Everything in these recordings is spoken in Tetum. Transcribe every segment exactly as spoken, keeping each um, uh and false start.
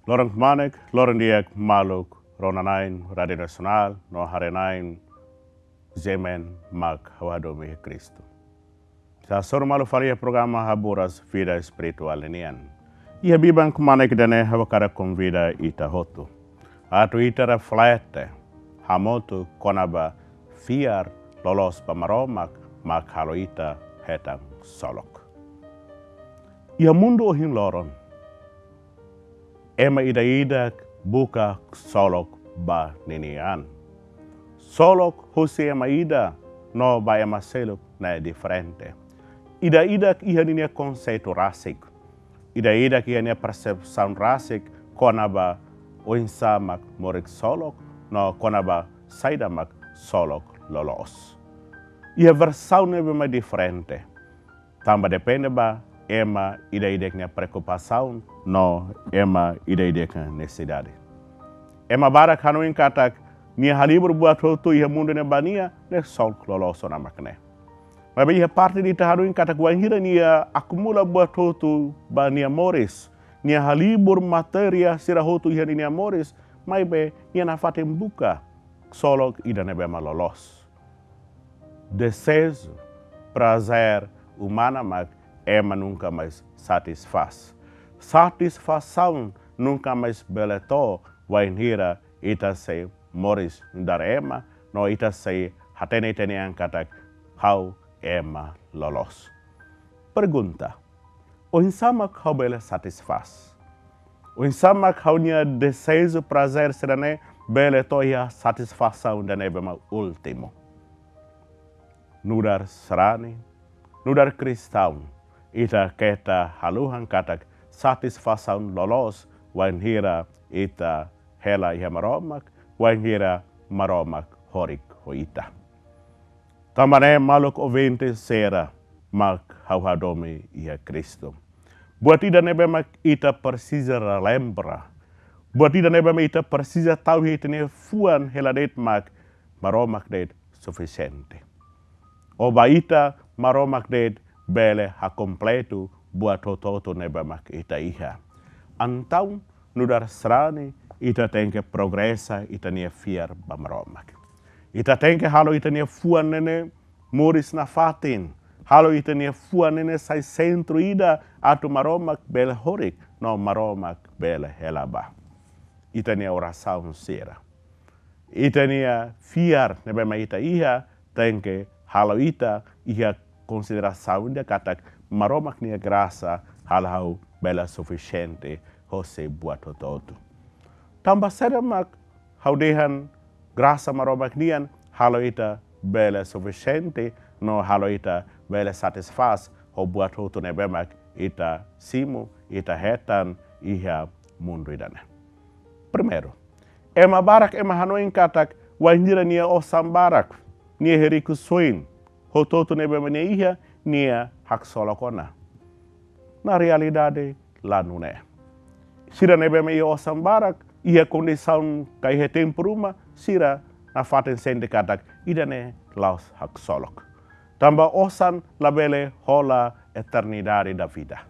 Loron kmanek, loron di'ak maluk rona-na'in Rádiu Nasionál no haree-na'in G M N mak ha'u hadomi iha Kristu. Sei hasoru malu fali iha programa Haburas Vida Espirituál ninian. Iha biban kmanek ida-ne'e ha'u hakarak konvida ita hotu atu ita reflete hamutuk kona-ba fiar loloos ba Maromak mak halo ita hetan ksolok. Iha mundu ohin loron, ema ida-idak buka ksolok ba ninia an. Ksolok husi ema ida no ba ema seluk ne'e diferente. Ida-idak iha ninia konseitu rasik. Ida-idak iha nia persepsaun rasik kona-ba oinsá mak moris ksolok no kona-ba saida mak ksolok loloos. Iha versaun ne'ebé mak diferente. Tanba depende ba ema ida-idak nia preokupasaun no ema ida-idak nia nesesidade. Ema barak hanoin katak nia halibur buat hotu iha mundu ne'e ba nia, ne'e ksolok loloos ona mak ne'e. Maibé iha parte ida ita hanoin katak wainhira nia akumula buat hotu ba nia moris, nia halibur matéria sira hotu iha ninia moris, maibé nia nafatin buka ksolok ida ne'ebé mak loloos. Deseju, prazer umana mak ema nunka mais satisfás. Satisfasaun nunka mais bele to'o wainhira ita sei moris nu'udar ema, no ita sei hatene ita-nia an katak ha'u ema loloos. Pergunta: oinsá mak ha'u bele satisfás? Oinsá mak ha'u-nia deseju, prazer sira-ne'e bele to'o iha satisfasaun ida ne'ebé mak últimu? Nu'udar sarani, nu'udar kristaun, ita keta haluha katak satisfasaun loloos wainhira ita hela iha Maromak, wainhira Maromak horik ho ita. Tanba ne'e maluk ouvinte sira mak ha'u hadomi iha Kristu, buat ida ne'ebé mak ita presiza relembra, buat ida ne'ebé mak ita presiza tau iha ita-nia fuan hela de'it mak Maromak de'it sufisiente. Ho ba ita Maromak de'it bele hakompletu buat hotu-hotu ne'ebé mak ita iha. Entaun nu'udar sarani ita tenke progresa ita-nia fiar ba Maromak. Ita tenke halo ita-nia fuan ne'e moris nafatin. Halo ita-nia fuan ne'e sai sentru ida atu Maromak bele horik no Maromak bele hela ba. Ita-nia orasaun sira, ita-nia fiar ne'ebé mak ita iha tenke halo ita iha konsiderasaun ida katak Maromak nia grasa halo ha'u bele sufisiente hosi buat hotu-hotu. Tanba saida mak ha'u dehan grasa Maromak nian halo ita bele sufisiente no halo ita bele satisfás ho buat hotu ne'ebé mak ita simu, ita hetan iha mundu ida-ne'e? Primeiru, ema barak ema hanoin katak wainhira nia osan barak, nia iha rikusoin, hotu-hotu ne'ebé mak nia iha, nia haksolok ona. Na realidade la nune'e. Sira ne'ebé mak iha osan barak, iha kondisaun ka iha tempu ruma, sira nafatin sente katak ida-ne'e la'ós haksolok. Tanba osan labele hola eternidade da vida.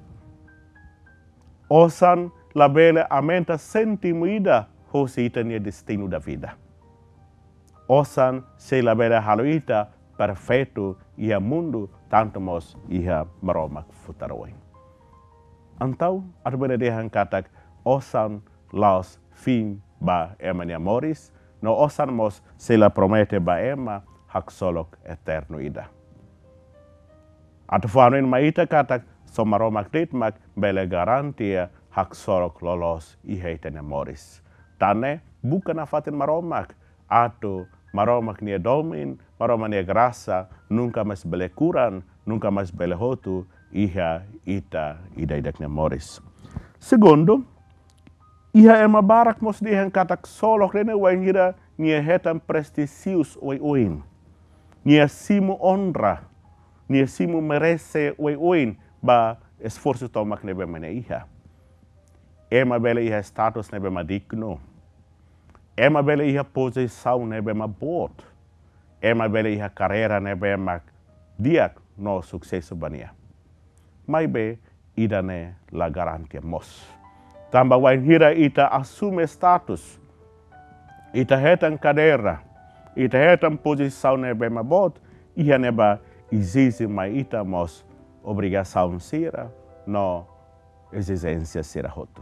Osan labele aumenta séntimu ida hosi ita-nia destinu da vida. Osan sei labele halo ita perfeitu iha mundu, tantu mós iha Maromak futar oin. Entaun, atu bele dehan katak osan la'ós fin ba ema nia moris, no osan mós sei la promete ba ema haksolok eternu ida. Atu fó hanoin mai ita katak só Maromak de'it mak bele garantia haksolok loloos iha ita-nia moris. Tan ne'e, buka nafatin Maromak, atu Maromak nia domin, Maromak nia grasa nunka mais bele kuran, nunka mais bele hotu iha ita ida-idak nia moris. Segundu, iha ema barak mós dehan katak ksolok ne'e wainhira nia hetan prestíjiu oioin, nia simu onra, nia simu merese oioin ba esforsu tomak ne'ebé mak nia iha. Ema bele iha status ne'ebé mak dignu. Ema bele iha pozisaun ne'ebé mak boot. Ema bele iha karreira ne'ebé mak di'ak no susesu ba nia. Maibé ida-ne'e la garantia mós. Tanba wainhira ita asume status, ita hetan kadeira, ita hetan pozisaun ne'ebé mak boot, iha ne'ebá ezije mai ita mós obrigasaun sira no ezijénsia sira hotu.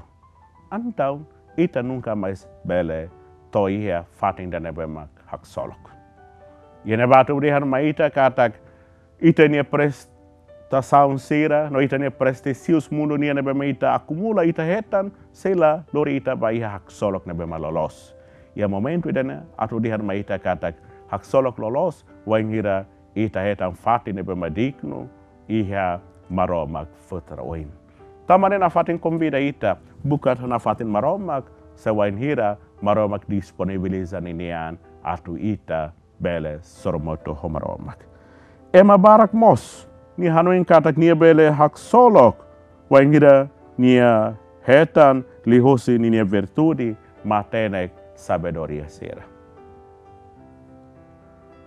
Entaun, ita nunka mais bele to'o iha fatin ida ne'ebé mak haksolok. Iha ne'ebá atu dehan mai ita katak ita-nia prestasaun sira, no ita-nia prestíjiu mundu nian ne'ebé mak ita akumula, ita hetan, sei la lori ita ba iha haksolok ne'ebé mak loloos. Iha momentu ida-ne'e atu dehan mai ita katak haksolok loloos wainhira ita hetan fatin ne'ebé mak dignu iha Maromak futar oin. Tanba ne'e nafatin konvida ita buka nafatin Maromak, se wainhira Maromak disponibiliza ninia an atu ita bele sorumutu ho Maromak. Ema barak mós nia hanoin katak nia bele haksolok wainhira nia hetan liuhosi ninia virtude matenek sabedoria sira.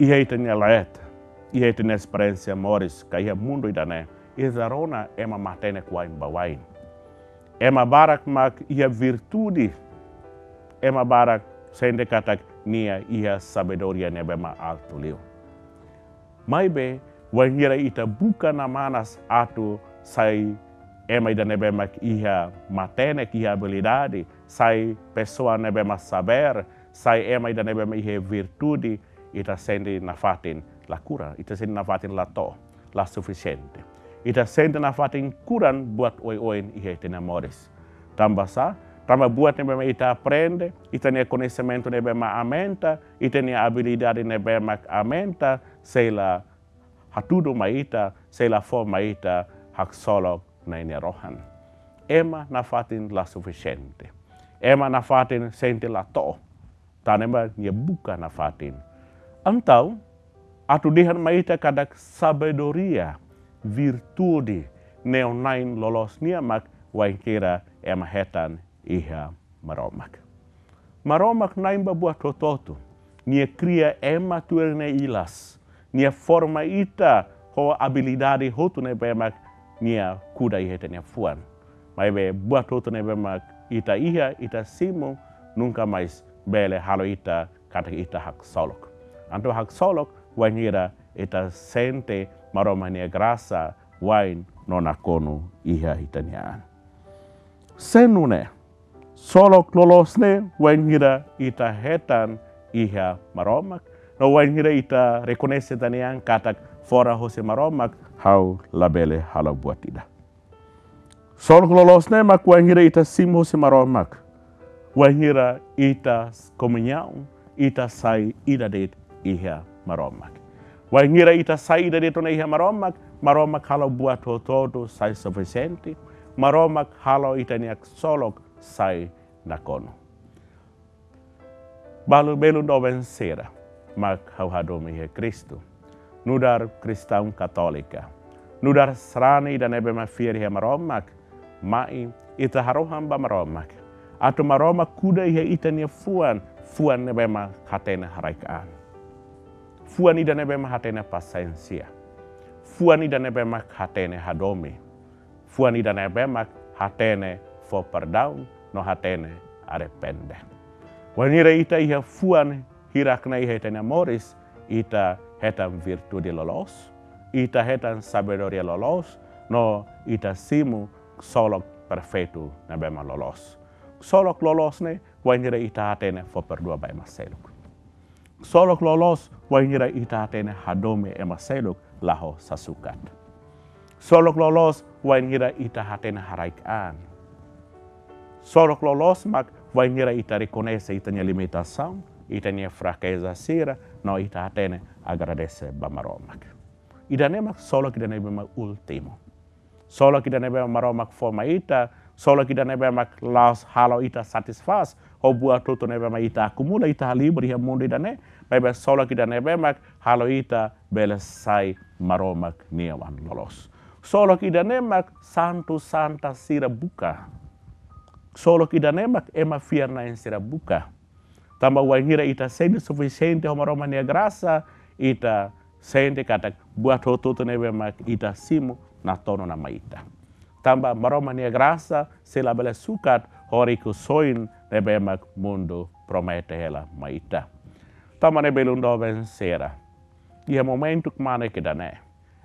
Iha ita-nia leet, iha ita-nia esperiénsia moris ka iha mundu ida-ne'e, ita rona ema matenek wa'in ba wa'in. Ema barak mak iha virtude, ema barak sente katak nia iha sabedoria ne'ebé mak altu liu. Maibé, wainhira ita buka namanas atu sai ema ida ne'ebé mak iha matenek, iha abilidade, sai pesoa ne'ebé mak saber, sai ema ida ne'ebé mak iha virtude, ita sente nafatin la kuran, ita sente nafatin la to'o, la sufisiente. Ita sente nafatin kuran buat oioin iha ita-nia moris. Tanba sá, tanba buat ne'ebé mak ita aprende, ita-nia koñesimentu ne'ebé mak aumenta, ita-nia abilidade ne'ebé mak aumenta, sei la hatudu mai ita, sei la fó mai ita haksolok Na'i nia rohan. Ema nafatin la sufisiente. Ema nafatin sente la to'o. Tanba nia buka nafatin. Entaun, atu dehan mai ita katak sabedoria, virtude, ne'e na'in loloos nian mak wainhira ema hetan iha Maromak. Maromak na'in ba buat hotu-hotu. Nia kria ema tuir nia ilas. Nia forma ita ho abilidade hotu ne'ebé mak nia kuda iha ita-nia fuan. Maibé buat hotu ne'ebé mak ita iha, ita simu, nunka mais bele halo ita katak ita haksolok. Entaun haksolok wainhira ita sente Maromak nia grasa wa'in no nakonu iha ita-nia an. Sei nune'e, solok loloos ne'e wainhira ita hetan iha Maromak, no wainhira ita rekoñese ita-nia an katak fora hosi Maromak ha'u labele halo buat ida. Solok loloos ne'e mak wainhira ita simu hosi Maromak, wainhira ita komuñaun, ita sai ida de'it iha Maromak. Wainhira ita sai ida de'it ona iha Maromak, Maromak halo buat hotu-hotu sai sufisiente, Maromak halo ita-nia solok sai nakonu. Balu belun doben sira mak ha'u hadomi iha Kristu. Nu'udar kristaun katólika, nu'udar sarani ida ne'ebé mak fiar iha Maromak, mai ita harohan ba Maromak atu Maromak kuda iha ita-nia fuan, fuan ne'ebé mak hatene haraik-an. Fuan ida ne'ebé mak hatene pasiénsia. Fuan ida ne'ebé mak hatene hadomi. Fuan ida ne'ebé mak hatene fó perdaun no hatene arrepende. Wainhira ita iha fuan hirak-ne'e iha ita-nia moris, ita hetan virtude loloos, ita hetan sabedoria loloos, no ita simu solok perfeitu ne'ebé mak loloos. Solok loloos ne'e wainhira ita hatene fó perdua ba ema seluk. Solok loloos wainhira ita hatene hadomi ema seluk la ho sasukat. Solok loloos wainhira ita hatene haraik-an. Solok loloos mak wainhira ita rekoñese ita-nia limitasaun, ita-nia frakeza sira, no ita hatene agradese ba Maromak. Ida-ne'e mak solok ida ne'ebé mak últimu. Solok ida ne'ebé mak Maromak fó mai ita, solok ida ne'ebé mak la'ós halo ita satisfás ho buat hotu ne'ebé mak ita akumula, ita halibur iha mundu ida-ne'e, maibé solok ida ne'ebé mak halo ita bele sai Maromak nia oan loloos. Solok ida-ne'e mak santu santa sira buka. Solok ida-ne'e mak ema fiar-na'in sira buka. Tanba wainhira ita sente sufisiente ho Maromak nia grasa, ita sente katak buat hotu-hotu ne'ebé mak ita simu natonu ona mai ita. Tanba Maromak nia grasa sei labele sukat ho riku-soin ne'ebé mak mundu promete hela mai ita. Tanba ne'e belun doben sira, iha momentu kmanek ida-ne'e,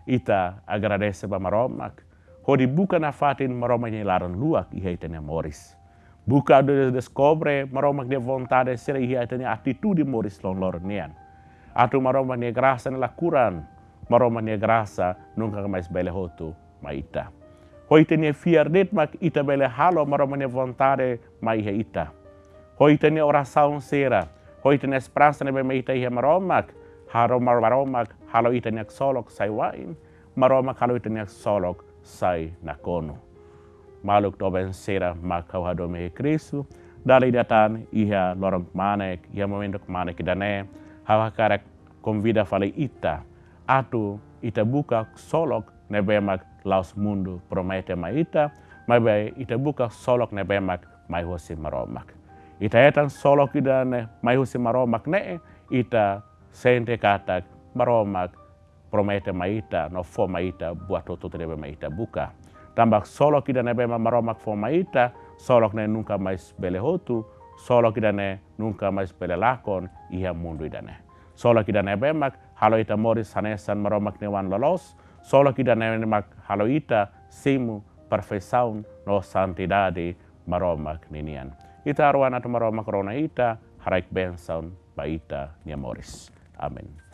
ita agradese ba Maromak, hodi buka nafatin Maromak nia laran-luak iha ita-nia moris. Buka atu deskobre Maromak nia vontade sira iha ita-nia atitude moris loron-loron nian. Atu Maromak nia grasa ne'e la kuran, Maromak nia grasa nunka mais bele hotu mai ita. Ho ita-nia fiar de'it mak ita bele halo Maromak nia vontade mai iha ita. Ho ita-nia orasaun sira, ho ita-nia esperansa ne'ebé mak ita iha Maromak, halo Mar-, Maromak halo ita-nia ksolok sai wa'in, Maromak halo ita-nia ksolok sai nakonu. Maluk doben sira mak ha'u hadomi iha Kristu, dala ida tan iha loron kmanek, iha momentu kmanek ida-ne'e, ha'u hakarak konvida fali ita atu ita buka ksolok ne'ebé mak la'ós mundu promete mai ita, maibé ita buka ksolok ne'ebé mak mai husi Maromak. Ita hetan ksolok ida-ne'e mai husi Maromak ne'e, ita sente katak Maromak promete mai ita, no fó mai ita buat hotu-hotu ne'ebé mak ita buka. Tanba ksolok ida ne'ebé mak Maromak fó mai ita, ksolok ne'e nunka mais bele hotu, ksolok ida-ne'e nunka mais bele lakon iha mundu ida-ne'e. Ksolok ida ne'ebé mak halo ita moris hanesan Maromak nia oan loloos, ksolok ida ne'ebé mak halo ita simu perfeisaun no santidade Maromak ninian. Ita harohan atu Maromak rona ita, haraik bensaun ba ita-nia moris. Amen.